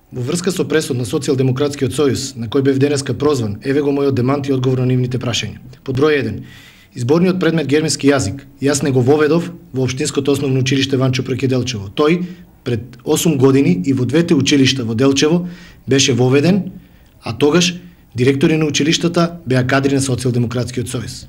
Во врска со пресод на Социјалдемократскиот сојуз, на кој бев денеска прозван, еве го мојот демант и одговор на нивните прашања. Под број 1. Изборниот предмет германски јазик, јас не го воведов во Општинското основно училиште Ванчо Прекиделчево. Тој пред 8 години и во двете училишта во Делчево беше воведен, а тогаш директори на училиштата беа кадри на Социјалдемократскиот сојуз.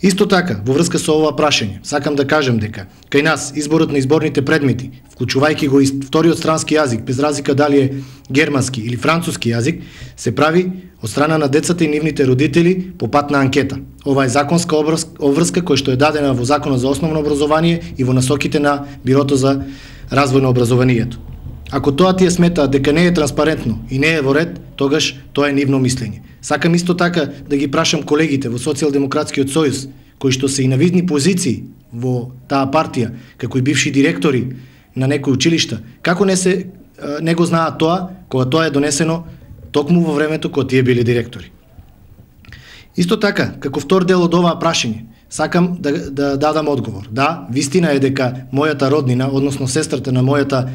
Исто така, во врска со ова прашање, сакам да кажам дека кај нас изборот на изборните предмети, вклучувајќи го и вториот странски јазик, без разлика дали е германски или француски јазик, се прави од страна на децата и нивните родители по пат на анкета. Ова е законска обврска која што е дадена во Законот за основно образование и во насоките на Бирото за развој на образованието. Ако тоа тие сметаат дека не е транспарентно и не е во ред, тогаш тоа е нивно мислење. Сакам исто така да ги прашам колегите во Социјалдемократскиот сојуз, кои што се и на видни позиции во таа партија, како и бивши директори на некои училишта, како не го знаат тоа, кога тоа е донесено токму во времето кога тие биле директори. Исто така, како втор дел од оваа прашање, сакам да дадам одговор. Да, вистина е дека мојата роднина, односно сестрата на мојата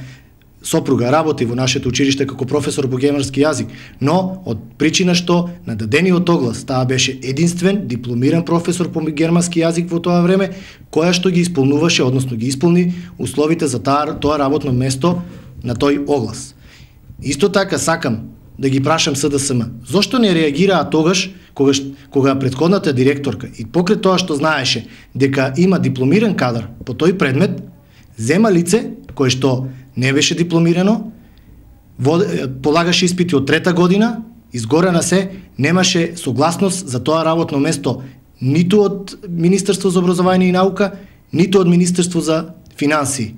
сопруга работи во нашето училиште како професор по германски јазик, но од причина што на дадениот оглас таа беше единствен дипломиран професор по германски јазик во тоа време, која што ги исполнуваше, односно ги исполни условите за тоа работно место на тој оглас. Исто така сакам да ги прашам СДСМ, зошто не реагираа тогаш кога претходната директорка и покрај тоа што знаеше дека има дипломиран кадар по тој предмет, зема лице кое што не беше дипломирано, полагаше испити од трета година, изгоре на се, немаше согласност за тоа работно место ниту од Министерство за образование и наука, ниту од Министерство за финансии.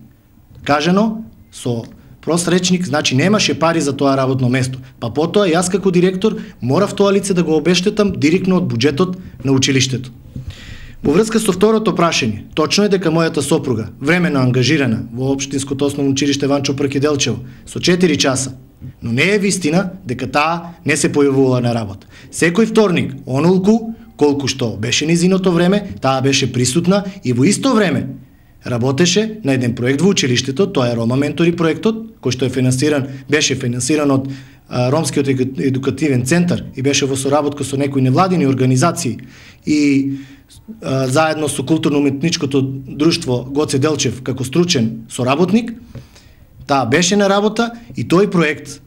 Кажано со прост речник, значи немаше пари за тоа работно место. Па потоа јас како директор морав тоа лице да го обештетам директно од буџетот на училиштето. Во врска со второто прашање, точно е дека мојата сопруга, времено ангажирана во Општинското основно училиште Ванчо Прекиделчево со 4 часа, но не е вистина дека таа не се појавувала на работа. Секој вторник, онолку колку што беше низиното време, таа беше присутна и во исто време работеше на еден проект во училиштето, тоа е Рома Ментори проектот, кој што беше финансиран од Ромскиот едукативен центар и беше во соработка со некои невладини организации и заедно со културно-уметничкото друштво Гоце Делчев како стручен соработник, таа беше на работа и тој проект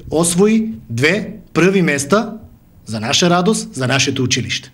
освои 2 први места за наша радост за нашето училиште.